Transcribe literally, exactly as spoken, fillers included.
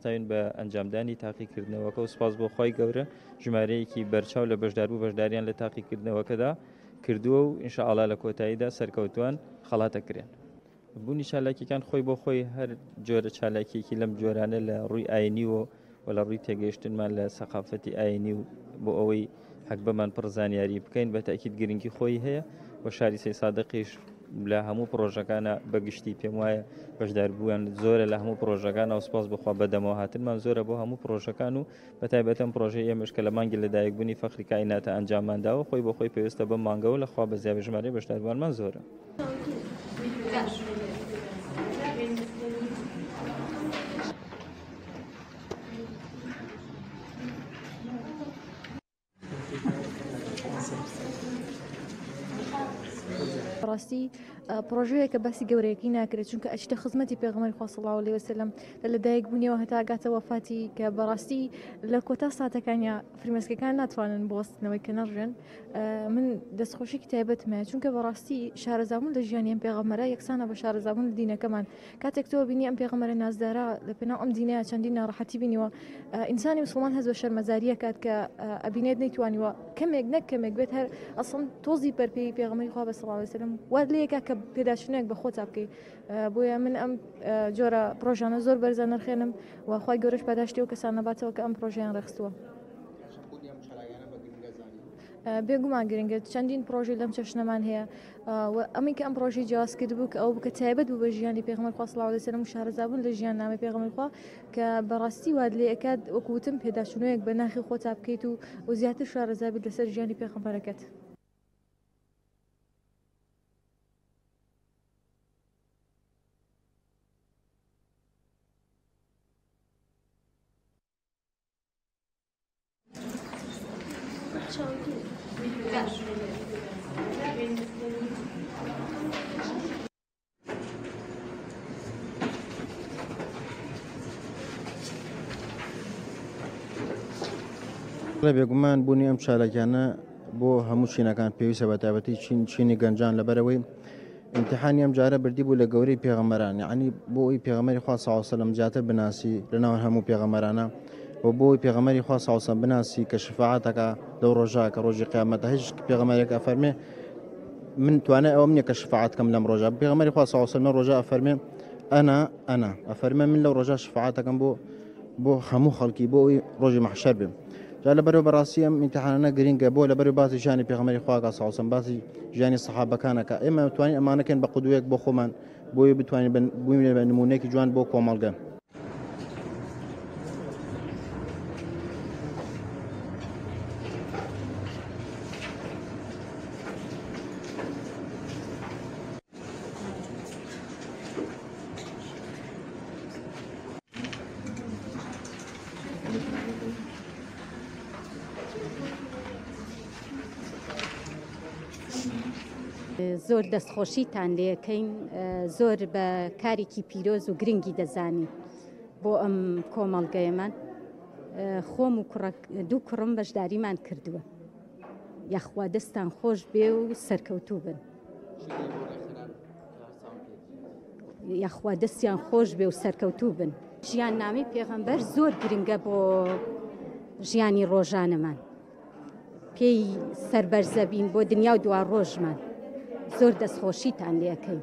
هەستاوین بە ئەنجامدانی تاقیکردنەوەکە و سوپاس بۆ خوای گەورە ژمارەیەکی بەرچاو لە بەشداربوو بەشداریان لە تاقیکردنەوەکەدا کردووە و ئینشاءڵا لە کۆتاییدا سەرکەوتوان خەڵاتەکرێن. بوونی چالاکیەکان خۆی بۆ خۆی هەر جۆرە چالاکیەکی لەم جۆرانە لە ڕووی ئاینی و و لە ڕووی تێگەیشتنمان لە سەقافەتی ئاینی و بۆ ئەوەی حەکبەمان پڕ زانیاری بکەین بە تاکید گرنگی خۆی هەیە و شاری سەی سادقیش لە هەموو پرۆژەکانە بەگشتی پێم وایە بەشداربوویان زۆرە لە هەموو پرۆژەکان و سپاس بخوا بەدەمەوە هاتنمان زۆرە بۆ هەموو پرۆژەکان و بە تایبەتەم پرۆژەی ئێمەش کە لە مانگی لەدایکبوونی فەخری کائیناتە ئەنجاممانداوە خۆی بۆ خۆی پێویستە بەم مانگەوە لە خوا بە زیابێ ژمارەی بەشداربووانمان زۆرە. ڕاستی پرۆژەیەکە باسی گەورەیەکی ناکرێت، چونکە ئەچیتە خزمەتی پێغەمبەری خوا صلی الله علیه وسلم لە لەدایک بوونیەوە هەتا گاتە وەفاتی کە بەڕاستی لە کۆتا ساتەکانیا فرمێسکەکان ناتوانن بوەستنەوەی کە نەڕژێن. من دەستخۆشیکی تایبەتم هەیە، چونکە بەڕاستی شارەزابوون لە ژیانی ئەم پێغەمبەرە یەکسانە بە شارەزابوون لە دینەکەمان. کاتێک تۆ بینی ئەم پێغەمبەرە نازدارە لە پێناو ئەم دینەیە چەندین ناڕەحەتی بینیوە، ئینسانی مسلمان هەست بە شەرمەزاریە کات کە ئەبینێت نەیتوانیوە کەمێک نەک کەمێک بێت هەر ئەسڵ تۆزی پەرپێی پێغەمبەری خوا بە صلی الله علیه وسلم وات لێکا کە پێداچوونێک بە خۆتا بکەی. بۆیە من ئەم جۆرە پرۆژانە زۆر بەرزە نرخێنم و خوای گەورەش پاداشتی ئەو کەسانە باتەوە کە ئەم پرۆژەیان ڕێخستووە. بێگومان گرنگە، چەندین پرۆژەی لەم چەشنەمان هەیە و ئەمەی کە ئەم پرۆژەی جیاواز کردبوو کە ئەو بکە تایبەت بوو بە ژیانی پێغەمبەر خوا صلی الله علیه وسلم و شارەزابوون لە ژیان نامەی پێغەمبەر خوا کە بەڕاستی وات لێ ئەکات وەکو وتم پێداچوونەوەیەک بە ناخی خۆتا بکەیت و و زیاتر شارەزابیت لەسەر ژیانی پێغەمبەرەکەت. بێگومان بوونی ئەم چالاکیانە بۆ هەموو چینەکان پێویستە، بە تایبەتی چین چینی گەنجان، لەبەرەوەی امتحانی ئەم جارە بردی بوو لە گەورەی پێغەمبەران، یعنی بۆ ئەوی پێغەمبەری خوا صلی الله علیه وسلم زیاتر بناسی لەناو هەموو پێغەمبەرانە و بۆ ئەوی پێغەمبەری خوا صلی الله علیه وسلم بناسی کە شفاعەتەکە لەو ڕۆژە کە ڕۆژی قیامەتە. هیچ پێغەمبەرێک ئەفەرمێ من توانای ئەوەم نییە کە شفاعەت کەم لەم ڕۆژە. پێغەمبەری خوا صلی الله علیه وسلم لەم ڕۆژە ئەفەرمێ ئەنا ئەنا، ئەفەرمێ من لەو ڕۆژە شفاعەتەکەم بۆ بۆ هەموو خەڵکی بۆ ئەوی ڕۆژی مەحشەر بێم. جا لەبەرەوە بەڕاستی ئەم ئیمتیحانانە گرنگە بۆ لەبەرەوە باسی ژیانی پێغەمبەری خوا کە صلی الله علیه وسلم، باسی ژیانی سەحابەکانەکە. ئێمە توانین ئەمانەکەین بە قودوەیەک بۆ خۆمان، بۆیە بتوانین بووین بە نمونەیەکی جوان بۆ کۆمەڵگە. زۆر دەستخۆشیتان لێکەین، زۆر بە کارێکی پیرۆز و گرنگی دەزانین بۆ ئەم کۆمەڵگەیەمان. خۆم و دوو کوڕم بەشداریمان کردووە. یاخوا دەستان خۆش بێ و سەرکەوتوو بن. یاخوا دەستیان خۆش بێ و سەرکەوتوو بن. ژیان نامی پێغەمبەر زۆر گرنگە بۆ ژیانی ڕۆژانەمان، پێی سەربەرزەبین بۆ دنیا و دوا ڕۆژمان. زۆر دەستخۆشیتان لێکەین.